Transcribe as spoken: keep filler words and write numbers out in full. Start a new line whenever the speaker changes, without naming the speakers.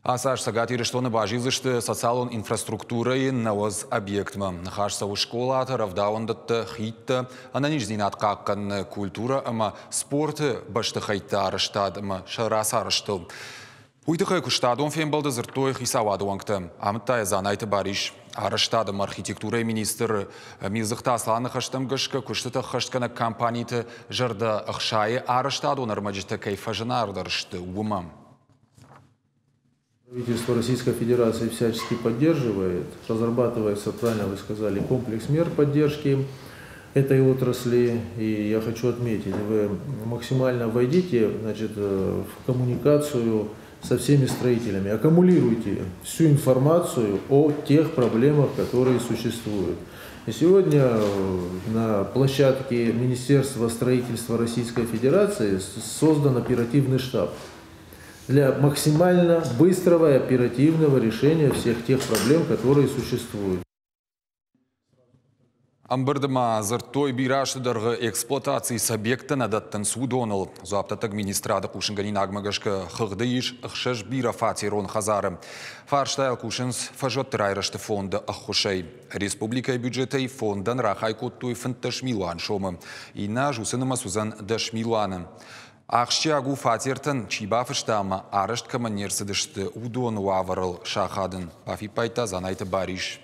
Ацы аз Цӕгат Ирыстоны базилдзысты социалон инфраструктурӕйы нӕуӕдз объектмӕ. Ныхас цӕуы скъолаты, рӕвдауӕндӕтты, хидтӕ, ӕнӕниздзинад хъахъхъӕныны, культурӕ ӕмӕ спорты бӕстыхӕйтты арӕзтад ӕмӕ сӕ рацарӕзтыл. Уый тыххӕй куыстадон фембӕлды дзырдтой хицауады уӕнгтӕ. Амыдта йӕ Дзанайты Барис. Арӕзтад ӕмӕ архитектурӕйы министр Милдзыхты Асланы ныхӕстӕм гӕсгӕ куыстытӕ ӕххӕстгӕнӕг компаниты зӕрдӕ ӕхсайы арӕзтадон ӕрмӕджытӕ кӕй фӕзынаргъдӕр сты, уымӕ.
Правительство Российской Федерации всячески поддерживает, разрабатывается, правильно вы сказали, комплекс мер поддержки этой отрасли. И я хочу отметить, вы максимально войдите, значит, в коммуникацию со всеми строителями, аккумулируйте всю информацию о тех проблемах, которые существуют. И сегодня на площадке Министерства строительства Российской Федерации создан оперативный штаб для максимально быстрого и оперативного решения всех тех проблем, которые существуют.
Ӕмбырды ма дзырдтой бирӕ азты дӕргъы эксплуатацийы цы объекттӕ нӕ дӕттынц, уыдоныл. Дзуапдӕттӕг министрады хъусынгӕнинагмӕ гӕсгӕ хыгъды ис ӕхсӕз бирӕфатерон хӕдзары. Фарстайыл кусынц фӕзуӕтты райрӕзты фонды ӕххуысӕй. Республикӕйы бюджетӕй фондӕн рахай кодтой фынддӕс милуан сомы. Иннӕ аз уыцы нымӕц уыдзӕн дӕс милуаны. Ахсджиаг у фатертӕн чи бафыста ӕмӕ арӕзт кӕмӕн не рцыдысты, уыдоны уавӕрыл сахадын, бафиппайдта Дзанайты Барис.